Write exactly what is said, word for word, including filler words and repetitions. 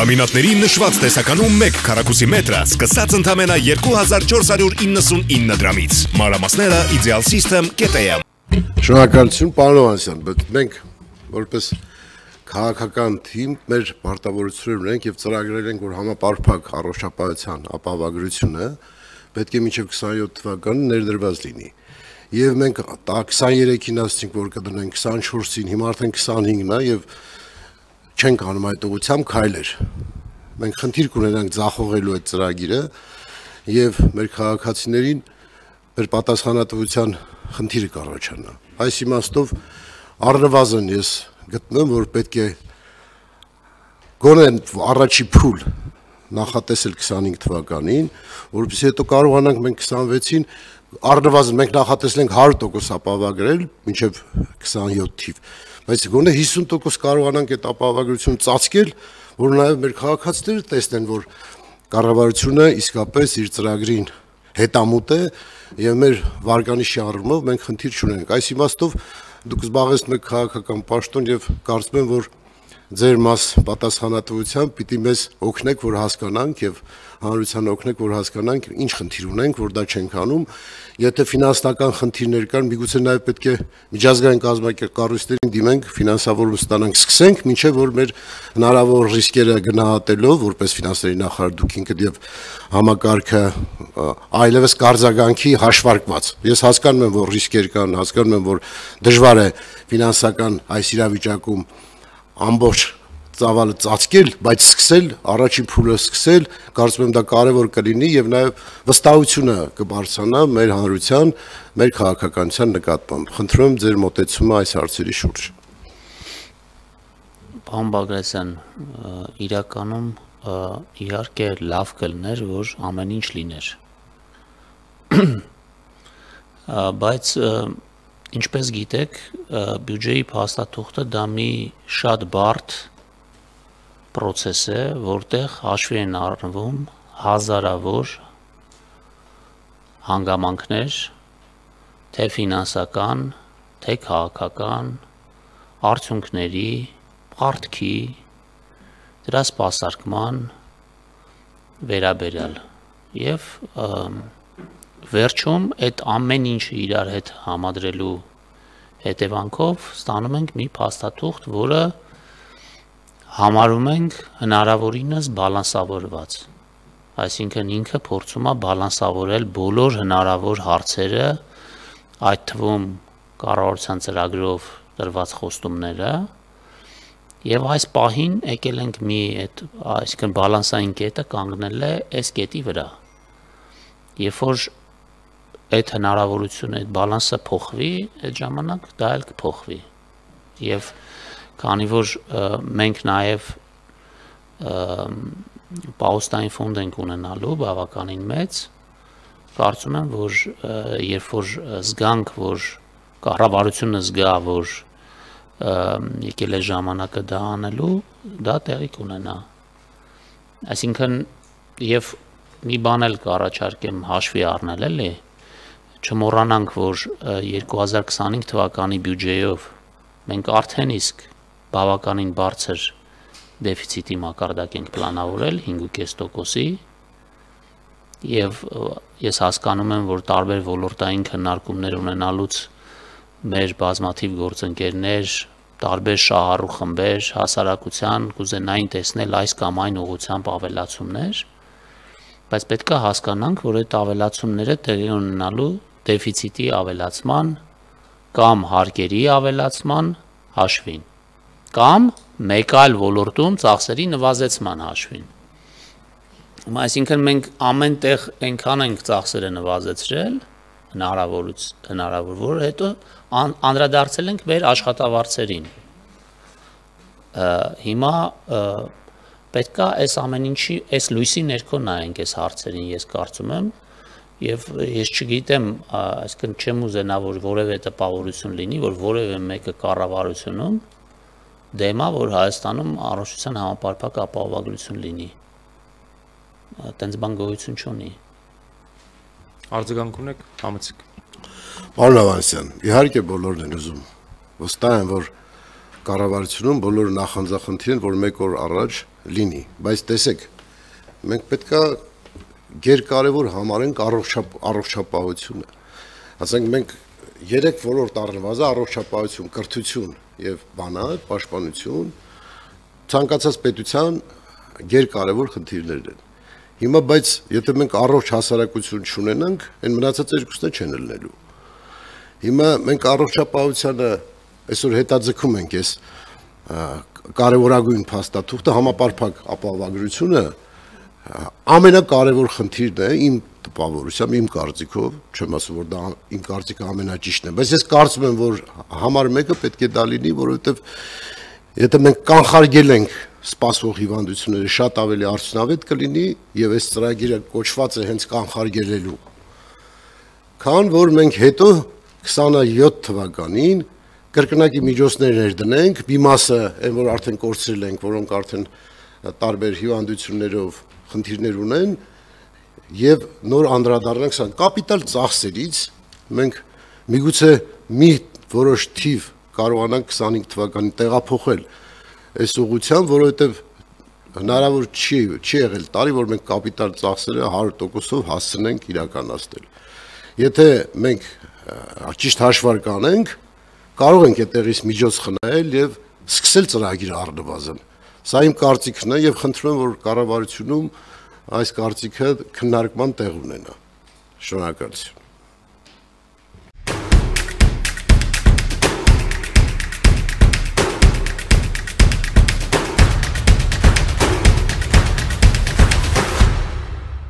Լամինատների նշված տեսականում մեկ քառակուսի մետրը սկսած ընդամենը երկու հազար չորս հարյուր իննսունինը դրամից։ Մանրամասները Ideal System կետը եմ։ Շնորհակալություն, պարոն Հովհաննիսյան, բայց մենք որպես քաղաքական թիմ մեր պարտավորություններ ունենք եւ ծրագրել ենք, որ համապարփակ առողջապահության ապահովագրությունը պետք է մինչեւ քսաներորդ թվականը ներդրված լինի։ Եվ մենք քսաներեքին ասացինք, որ կդնենք քսանչորսին, հիմա արդեն քսանհինգն է եւ չենք անում այդ ուղղությամբ քայլեր։ Մենք խնդիր կունենանք ձախողելու այդ ծրագիրը եւ մեր քաղաքացիներին մեր պատասխանատվության խնդիրը կառաջանա։ Այս իմաստով առնվազն ես գտնում, որ պետք է գոնե առաջի փուլ նախատեսել քսանհինգ թվականին, որովհետեւ հետո կարողանանք մենք քսանվեցին առնվազն մենք նախատեսել ենք հարյուր տոկոս ապահովագրել մինչև քսանյոթ թիվ, բայց գոնե հիսուն տոկոս կարողանանք այդ ապահովագրությունը ծածկել, որ նաև մեր քաղաքացիները տեսնեն, որ կառավարությունը իսկապես իր ծրագրին հետամուտ է եւ մեր վարկանիշի առումով մենք խնդիր չունենք։ Այս իմաստով դուք զբաղեցնում եք քաղաքական պաշտոն եւ կարծում եմ, որ ձեր մաս պատասխանատվությամբ պիտի մեզ օգնեք, որ հասկանանք եւ հանրությանը օգնեք, որ հասկանանք ինչ խնդիր ունենք, որ դա չենք անում։ Եթե ֆինանսական խնդիրներ կան, միգուցե նաեւ պետք է միջազգային կազմակերպություններին դիմենք, ֆինանսավորում ստանանք, սկսենք, մինչեւ որ մեր հնարավոր ռիսկերը գնահատելով, որպես ֆինանսների նախարար դուք ինքդ եւ համակարգը այլևս կարձագանքի հաշվարկված։ Ես հասկանում եմ, որ ռիսկեր կան, հասկանում եմ, որ դժվար է ֆինանսական այս իրավիճակում ամբողջ ծավալը ծածկել, բայց սկսել, առաջին փուլը սկսել, կարծում եմ դա կարևոր կլինի եւ նաեւ վստահությունը կբարձրանա մեր հանրության, մեր քաղաքականության նկատմամբ։ Խնդրում եմ ձեր մոտեցումը այս հարցերի շուրջ։ Պարոն Բագրատյան, իրականում իհարկե լավ կլներ, որ ամեն ինչ լիներ։ Բայց ինչպես գիտեք, բյուջեի փաստաթուղթը դա մի շատ բարդ process է, որտեղ հաշվի են առնվում հազարավոր հանգամանքներ, թե ֆինանսական, թե քաղաքական, արդյունքների, պարտքի, դրա սպասարկման վերաբերյալ եւ վերջում այդ ամեն ինչը իրար հետ համադրելու հետևանքով ստանում ենք մի փաստաթուղթ, որը համարում ենք հնարավորինս բալանսավորված, այսինքն ինքը փորձում է բալանսավորել բոլոր հնարավոր հարցերը, այդ թվում կառավարության ծրագրով տրված խոստումները, եւ այս պահին եկել ենք մի այդ այսինքն բալանսային կետը կանգնել է այս կետի վրա, երբ որ այդ հնարավորությունը, այդ բալանսը փոխվի, այդ ժամանակ դա էլ կփոխվի եւ քանի որ մենք նաև պաուստային ֆոնդ ենք ունենալու բավականին մեծ, կարծում եմ, որ երբ որ զգանք, որ կառավարությունը զգա, որ եկել է ժամանակը դա անելու, դա տեղի կունենա։ Այսինքն եւ մի բան էլ կառաջարկեմ հաշվի առնել, էլի, չմոռանանք, որ երկու հազար քսանհինգ թվականի բյուջեով մենք արդեն իսկ բավականին բարձր դեֆիցիտի մակարդակ ենք պլանավորել հինգ կես տոկոսի եւ ես հասկանում եմ, որ տարբեր ոլորտային քննարկումներ ունենալուց մեր բազմաթիվ գործընկերներ, տարբեր շահառու խմբեր, հասարակության կուզենային տեսնել այս կամ այն ուղղությամբ ավելացումներ, բայց պետք է հասկանանք, որ այդ ավելացումները տեղի ունենալու դեֆիցիտի ավելացման կամ հարկերի ավելացման հաշվին կամ մեկ այլ ոլորտում ծախսերի նվազեցման հաշվին։ Այսինքն մենք ամեն տեղ այնքան ենք ծախսերը նվազեցրել, հնարավորուց հնարավոր, որ հետո անդրադարձել ենք մեր աշխատավարձերին։ Հիմա պետք է այս ամեն ինչի, այս լույսի ներքո նայենք այս հարցերին, ես կարծում եմ, եւ ես չգիտեմ, այսինքն չեմ ուզենա, որ որևէ տպավորություն լինի, որ որևէ մեկը կառավարությունում դեմա, որ Հայաստանում առողջության համապարփակ ապահովագրություն լինի։ Տենց բան գոյություն չունի։ Արձագանք ունեք, համեցեք։ Պարոն Հովհաննիսյան, իհարկե բոլորն են ուզում։ Վստահ եմ, որ կառավարությունում բոլոր նախանձախնդիրն, որ մեկ օր առաջ լինի, բայց տեսեք, մենք պետք է գերկարևոր համարենք առողջապահությունը։ Ասենք մենք երեք ոլորտ առնվազն առողջապահություն, կրթություն եւ բանալ, պաշտպանություն, ցանկացած պետության գերկարևոր խնդիրներն են։ Հիմա բայց եթե մենք առողջ հասարակություն չունենանք, այն մնացած երկուսն չեն ելնելու։ Հիմա մենք առողջապահությանը այսօր հետաձգում ենք այս կարևորագույն փաստաթուղթը համապարփակ ապահովագրությունը ամենակարևոր խնդիրն է իմ տպավորությամբ, իմ կարծիքով, չեմ ասում որ դա իմ կարծիքը ամենաճիշտն է, բայց ես կարծում եմ որ համար մեկը պետք է դա լինի, որովհետև եթե մենք կանխարգել ենք սպասվող հիվանդությունները, շատ ավելի արդյունավետ կլինի եւ այս ծրագիրը կոչված է հենց կանխարգելելու։ Քան որ մենք հետո քսանյոթ թվականին կրկնակի միջոցներ ներդնենք, մի մասը այն որ արդեն կորցրել ենք, որոնք արդեն տարբեր հիվանդություններով խնդիրներ ունեն եւ նոր անդրադառնանք սա կապիտալ ծախսերից մենք միգուցե մի որոշ թիվ կարողանանք քսանհինգ թվականին տեղափոխել այս ուղղությամբ, որովհետեւ հնարավոր չի չի եղել տարի, որ մենք կապիտալ ծախսերը հարյուր տոկոսով հասցնենք իրականացնել։ Եթե մենք ճիշտ հաշվարկ անենք, կարող ենք այդտեղից միջոց խնայել եւ սկսել ծրագիրը առնվազն։ Սա իմ կարծիքն է եւ խնդրում եմ որ կառավարությունում այս կարծիքը քննարկման տեղ ունենա։ Շնորհակալություն։